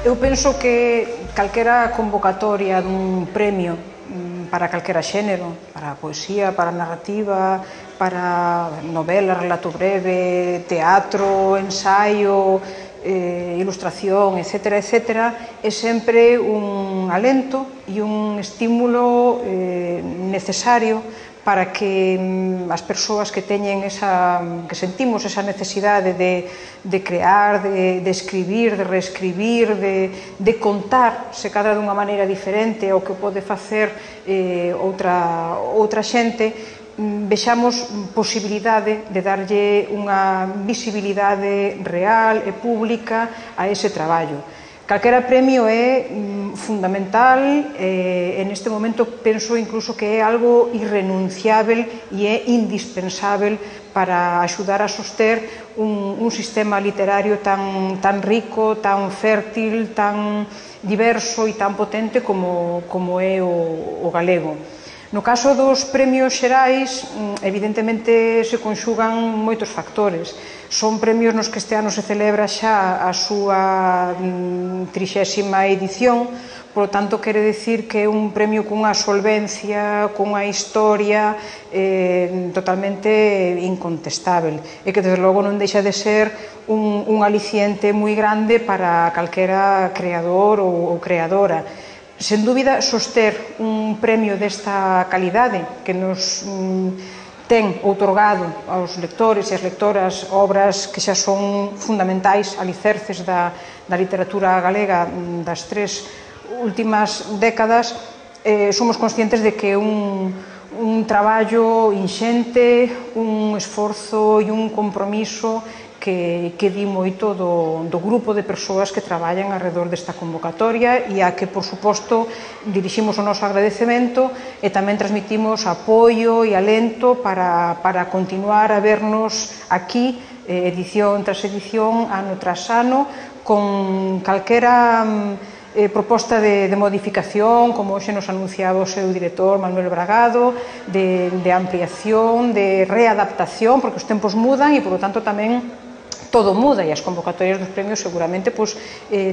Eu penso que calquera convocatoria dun premio para calquera xénero, para a poesía, para a narrativa, para novela, relato breve, teatro, ensaio, ilustración, etc., é sempre un alento e un estímulo necesario para que as persoas que teñen que sentimos esa necesidade de crear, de escribir, de reescribir, de contar, se cadra dunha maneira diferente ao que pode facer outra xente, vexamos posibilidade de darlle unha visibilidade real e pública a ese traballo. Calquera premio é fundamental e neste momento penso incluso que é algo irrenunciável e é indispensável para axudar a soster un sistema literario tan rico, tan fértil, tan diverso e tan potente como é o galego. No caso dos premios xerais, evidentemente se conxugan moitos factores. Son premios nos que este ano se celebra xa a súa 30ª edición, polo tanto, quere dicir que é un premio cunha solvencia, cunha historia totalmente incontestável e que, desde logo, non deixa de ser un aliciente moi grande para calquera creador ou creadora. Sen dúbida, soster un premio desta calidade que nos ten outorgado aos lectores e as lectoras obras que xa son fundamentais, alicerces da literatura galega das 3 últimas décadas, somos conscientes de que un traballo inxente, un esforzo e un compromiso que di moito do grupo de persoas que traballan arredor desta convocatoria e a que, por suposto, diriximos o noso agradecemento e tamén transmitimos apoio e alento para continuar a vernos aquí, edición tras edición, ano tras ano, con calquera proposta de modificación, como hoxe nos anunciaba o seu director Manuel Bragado, de ampliación, de readaptación, porque os tempos mudan e, por lo tanto, tamén todo muda e as convocatorias dos premios seguramente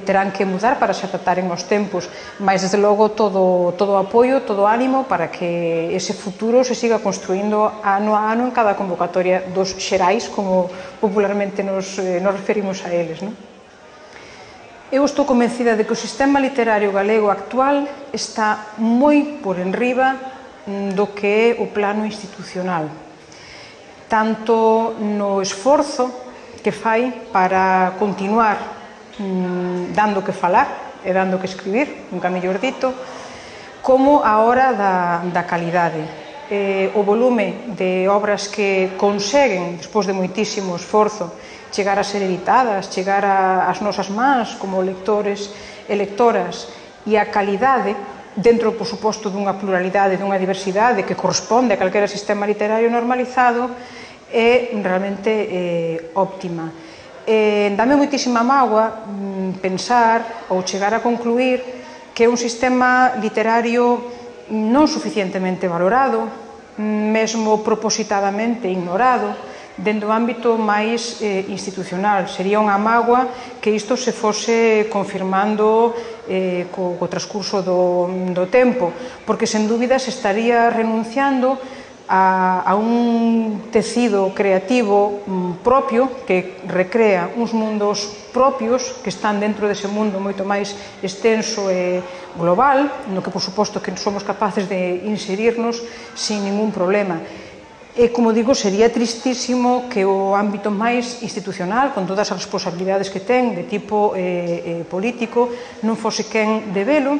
terán que mudar para se adaptaren aos tempos, mas desde logo todo apoio, todo ánimo para que ese futuro se siga construindo ano a ano en cada convocatoria dos xerais, como popularmente nos referimos a eles. Eu estou convencida de que o sistema literario galego actual está moi por enriba do que é o plano institucional, tanto no esforzo que fai para continuar dando que falar e dando que escribir, nunca mellor dito, como a hora da calidade. O volume de obras que conseguen, despois de moitísimo esforzo, chegar a ser editadas, chegar ás nosas mans como lectores e lectoras, e a calidade, dentro, por suposto, dunha pluralidade, dunha diversidade que corresponde a calquera sistema literario normalizado, é realmente óptima. Dame moitísima mágoa pensar ou chegar a concluir que é un sistema literario non suficientemente valorado, mesmo propositadamente ignorado, dentro do ámbito máis institucional. Sería unha mágoa que isto se fose confirmando co transcurso do tempo, porque sen dúbida se estaría renunciando a un tecido creativo propio que recrea uns mundos propios que están dentro dese mundo moito máis extenso e global, no que, por suposto, que somos capaces de inserirnos sin ningún problema. E, como digo, sería tristísimo que o ámbito máis institucional, con todas as responsabilidades que ten de tipo político, non fose quen de velo,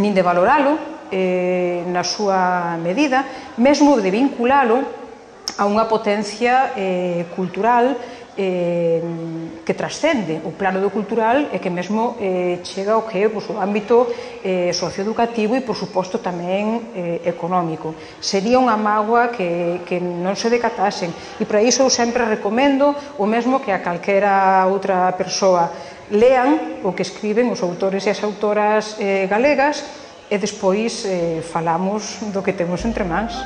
nin de valoralo na súa medida, mesmo de vinculalo a unha potencia cultural que trascende o plano do cultural e que mesmo chega ao que é o ámbito socioeducativo e, por suposto, tamén económico. Sería unha mágoa que non se decatasen, e para iso eu sempre recomendo o mesmo que a calquera outra persoa: lean o que escriben os autores e as autoras galegas e despois falamos do que temos entre mans.